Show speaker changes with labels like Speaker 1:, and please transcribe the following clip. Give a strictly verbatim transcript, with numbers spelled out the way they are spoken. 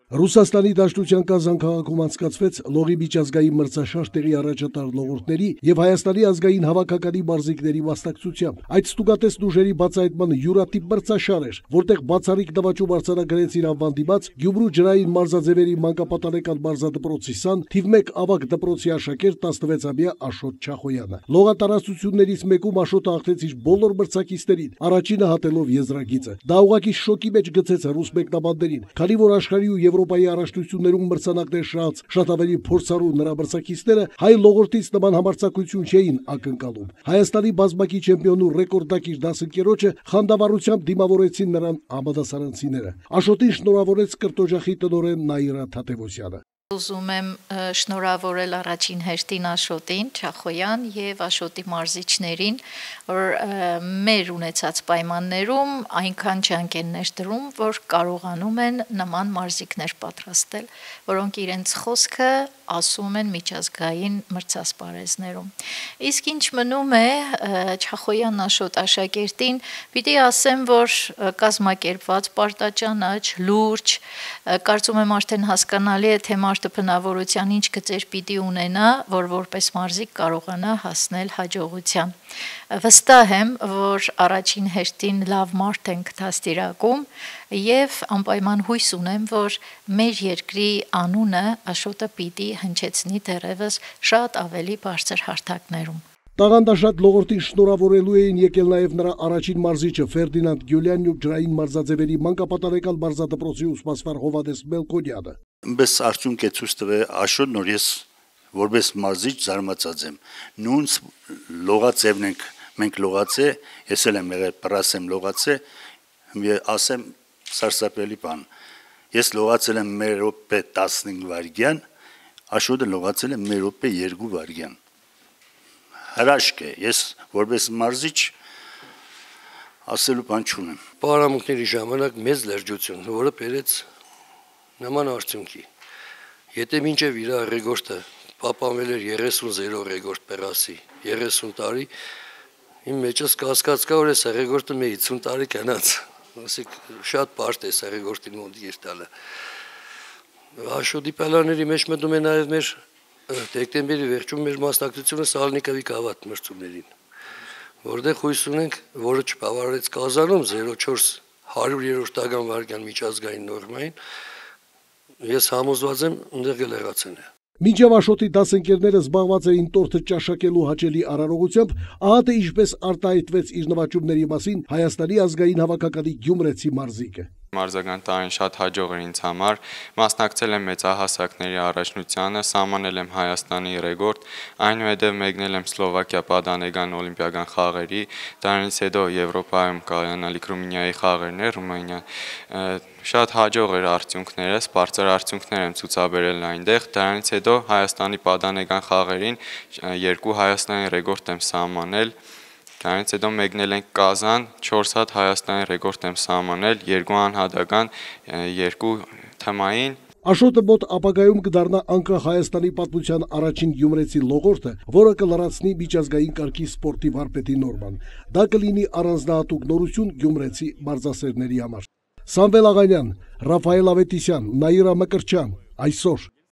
Speaker 1: Ռուսաստանի Դաշնության Կազան քաղաքում անցկացվեց լողի միջազգային մրցաշար տեղի առաջատար լողորդների եւ Հայաստանի ազգային հավաքականի մարզիկների մասնակցությամբ։ Այդ ստուգատես ուժերի բացահայտման յուրատիպ մրցաշար էր, որտեղ բացառիկ նվաճում արձանագրեցին անվան դիմաց Գյումրու ջրային մարզաձևերի մանկապատանեկան մարզադպրոցի սան թիվ մեկ ավագ դպրոցի աշակերտ տասնվեցամյա Աշոտ Չախոյանը։ Լողատարածություններից մեկում Աշոտը հաղթեց իր բոլոր մրցակիցներին, առաջինը հատելով եզրագիծը։ Դա ուղղակի շոկի մեջ գցեց ռուս մեկնաբաններին, քանի որ աշխարհի ու Եվրոպայի առաջնություններում մրցանակներ շահած շատ ավելի փորձառու նրա մրցակիցները հայ լողորդից նման համարձակություն չէին ակնկալում։ Հայաստանի բազմակի չեմպիոնու ռեկորդակիր դասընկերոջը խանդավառությամբ դիմավորեցին նրան համադասարանցիները։ Աշոտին շնորհավորեց կրտոջախի տնօրեն Նաիրա Թադևոսյանը։
Speaker 2: Ուզում եմ շնորհավորել առաջին հերթին Աշոտին Չախոյան եւ Աշոտի մարզիչներին, որ մեր ունեցած պայմաններում այնքան ջանք են ներդրում, որ կարողանում են նման մարզիկներ պատրաստել, որոնք իրենց խոսքը ասում են միջազգային մրցասպարեզներում։ Իսկ ինչ մնում է Չախոյան Աշոտ աշակերտին, պիտի ասեմ, որ կազմակերպված, պարտաճանաչ, լուրջ, կարծում եմ արդեն հասկանալի է, թե մարդը բնավորության ինչ գծեր պիտի ունենա, որ որպես մարզիկ կարողանա հասնել հաջողության։ Վստահ եմ, որ առաջին հերթին լավ մարդ ենք դաստիարակում եւ անպայման հույս ունեմ, որ մեր երկրի անունը Աշոտը պիտի հնչեցնի դեռևս շատ ավելի բարձր հարթակներում։
Speaker 1: Տաղանդաշատ լողորդին շնորհավորելու էին եկել նաև նրա առաջին մարզիչը Ֆերդինանդ Գյուլյանն ու ջրային մարզաձևերի մանկապատանեկան մարզադպրոցի ուսմասվար Հովհաննես Մելքոնյանը։
Speaker 3: Ըմբես արդյունք է ցույց տվել Աշոտն, որ ես որպես մարզիչ զարմացած եմ։ Նույն լողաձևն ենք մենք լողացե, ես էլ եմ եղել պրասեմ լողացե, ասեմ սարսափելի բան։ Ես լողացել եմ մի րոպե տասնհինգ վայրկյան, Աշոտը լողացել է մի րոպե երկու վայրկյան։ Հրաշք է, ես որպես մարզիչ ասելու բան չունեմ։
Speaker 4: Պարամունքների ժամանակ մեծ լրջություն, որը բերեց նման արդյունքի։ Եթե մինչև իր ռեկորդը պահպանվել էր երեսուն զիրո ռեկորդ Պերասի, երեսուն տարի, իմ մեջս կասկած կա, որ այս ռեկորդը մի հիսուն տարի կյանաց, ասենք շատ բարդ է այս ռեկորդին մոտ երտալը։ Աշոտի պալաների մեջ մտնում է նաև մեր դեկտեմբերի վերջում մեր մասնակցությունը Սալնիկովի գավաթ մրցումներին, որտեղ հույս ունենք, որը չբավարարեց Կազանում զիրո չորս հարյուրերորդական վայրկյան միջազգային նորմային, ես համոզված եմ ընդեղ կլեղացնե։
Speaker 1: Մինչև Աշոտի դասընկերները զբաղված էին տորթը ճաշակելու հաճելի արարողությամբ, ահա թե ինչպես արտահայտվեց իր նվաճումների մասին Հայաստանի ազգային հավաքականի գյումրեցի մարզիկը։
Speaker 5: Մարզական տարին շատ հաջող էր ինձ համար, մասնակցել եմ մեծահասակների առաջնությանը, սահմանել եմ Հայաստանի ռեկորդ, այնուհետև մեկնել եմ Սլովակիա պատանեկան օլիմպիական խաղերի, դրանից հետո Եվրոպայում կայանալիք Ռումինիայի խաղերներ, Ռումինիա շատ հաջող էր արդյունքներս, բարձր արդյունքներ եմ ցուցաբերել այնտեղ, դրանից հետո Հայաստանի պատանեկան խաղերին երկու Հայաստանի ռեկորդ եմ սահմանել։ Դրանից հետո մեկնել ենք Կազան, չորս հատ Հայաստանի ռեկորդ եմ սահմանել, երկու անհատական, երկու թմային։
Speaker 1: Աշոտը մոտ ապագայում կդառնա անկախ Հայաստանի պատմության առաջին գյումրեցի լողորդը, որը կլրացնի միջազգային կարգի սպորտի վարպետի նորման։ Դա կլինի առանձնահատուկ նորություն գյումրեցի մարզասերների համար։ Սամվել Աղանյան, Ռաֆայել Ավետիսյան, Նաիրա Մկրտչյան, այսօր։